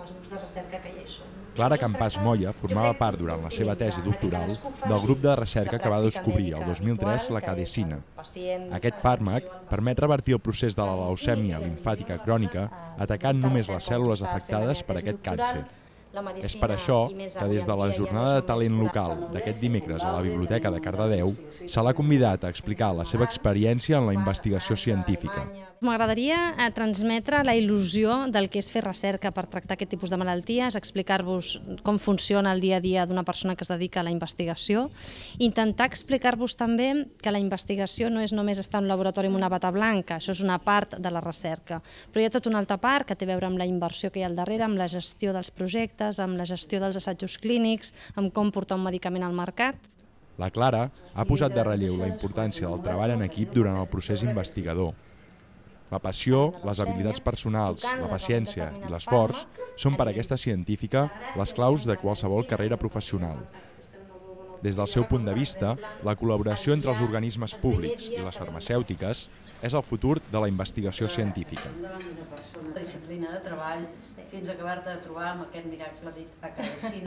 els grups de recerca que ja hi són. Clara Campàs Moya formava part durant la seva tesi doctoral del grup de recerca que va descobrir el 2003 la cadecina. Aquest fàrmac permet revertir el procés de la leucèmia limfàtica crònica atacant només les cèl·lules afectades per aquest càncer. És per això que des de la jornada de talent local d'aquest dimecres a la Biblioteca de Cardedeu se l'ha convidat a explicar la seva experiència en la investigació científica. M'agradaria transmetre la il·lusió del que és fer recerca per tractar aquest tipus de malalties, explicar-vos com funciona el dia a dia d'una persona que es dedica a la investigació, intentar explicar-vos també que la investigació no és només estar en un laboratori amb una bata blanca, això és una part de la recerca, però hi ha tota una altra part que té a veure amb la inversió que hi ha al darrere, amb la gestió dels projectes, amb la gestió dels assajos clínics, amb com portar un medicament al mercat. La Clara ha posat de relleu la importància del treball en equip durant el procés investigador. La passió, les habilitats personals, la paciència i l'esforç són per a aquesta científica les claus de qualsevol carrera professional. Des del seu punt de vista, la col·laboració entre els organismes públics i les farmacèutiques és el futur de la investigació científica. La disciplina de treball fins a acabar-te de trobar amb aquest miracle dit a cadecina.